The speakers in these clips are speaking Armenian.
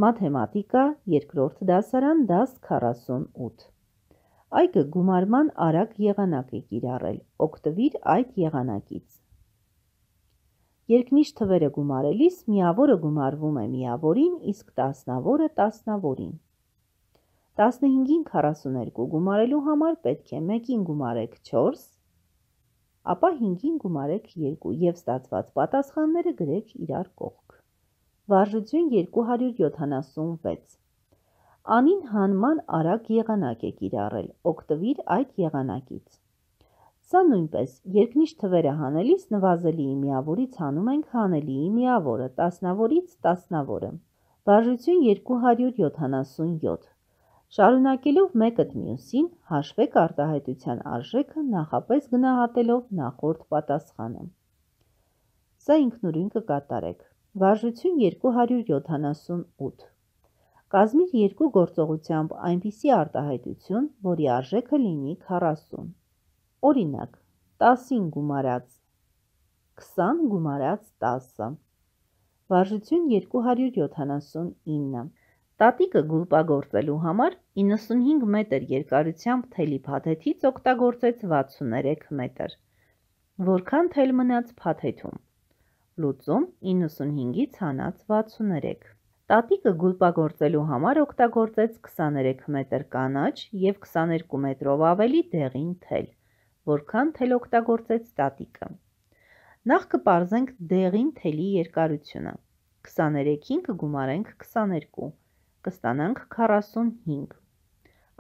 Մաթեմատիկա, երկրորդ դասարան, դաս 48։ Այգը գումարման արագ եղանակ է կիրառել, օգտվիր այդ եղանակից։ Երկնիշ թվերը գումարելիս միավորը գումարվում է միավորին, իսկ տասնավորը տասնավորին։ 15-ին 42 գումարելու համար պետք է 1-ին գումարեք 4, ապա 5-ին գումարեք 2 և ստացված պատասխանները գրեք իրար կողք։ Վարժություն 276։ Անին հանման արագ եղանակ է կիրառել, օգտվիր այդ եղանակից։ Սա նույնպես երկնիշ թվերը հանելիս նվազելիի միավորից հանում ենք հանելիի միավորը, տասնավորից տասնավորը։ Վարժություն 277։ Շարունակելով մեկըդ մյուսին, հաշվեք արտահայտության արժեքը նախապես գնահատելով նախորդ պատասխանը։ Սա ինքնուրույն կկատարեք։ Վարժություն 278։ Կազմիր երկու գործողությամբ այնպիսի արտահայտություն, որի արժեքը լինի 40։ Օրինակ, 10-ին գումարած 20 գումարած 10։ Վարժություն 279։ Տատիկը գուլպագործելու համար 95 մետր երկարությամբ թելի փաթեթից օգտագործեց 63 մետր։ Որքան թել մնաց փաթեթում։ Լուծում 95-ից հանած 63։ Տատիկը գուլպագործելու համար օգտագործեց 23 մետր կանաչ և 22 մետրով ավելի դեղին թել։ Որքան թել օգտագործեց տատիկը։ Նախ կպարզենք դեղին թելի երկարությունը։ 23-ին կգումարենք 22, կստանանք 45,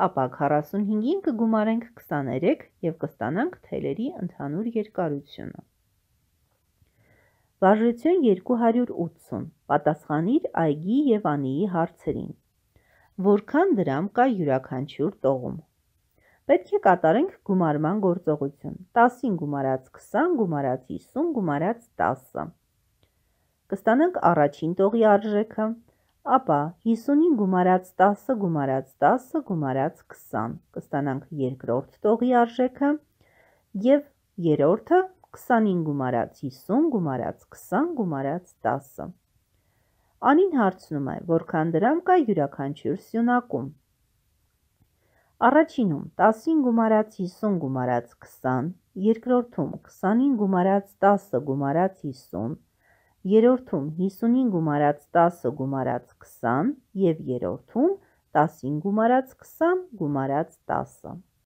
ապա 45-ին կգումարենք 23 և կստանանք թելերի ընդհանուր երկարությունը։ Վարժություն 280։ Պատասխանիր Այգի և Անիի հարցերին։ Որքան դրամ կա յուրաքանչյուր տողում։ Պետք է կատարենք գումարման գործողություն։ 10-ին գումարած 20 գումարած 50 գումարած 10։ Կստանանք առաջին տողի արժեքը, ապա 50-ին գումարած 10 գումարած 10 գումարած 20, կստանանք երկրորդ տողի արժեքը և երրորդը 20-ին գումարած 50 գումարած 20 գումարած 10։ Անին հարցնում է, որքան դրամ կա յուրաքանչյուր սյունակում։ Առաջինում 10-ին գումարած 50 գումարած 20, երկրորդում 20-ին գումարած 10 գումարած 50, երրորդում 50-ին գումարած 10 գումարած 20 և երրորդում 10-ին գումարած 20 գումարած 10։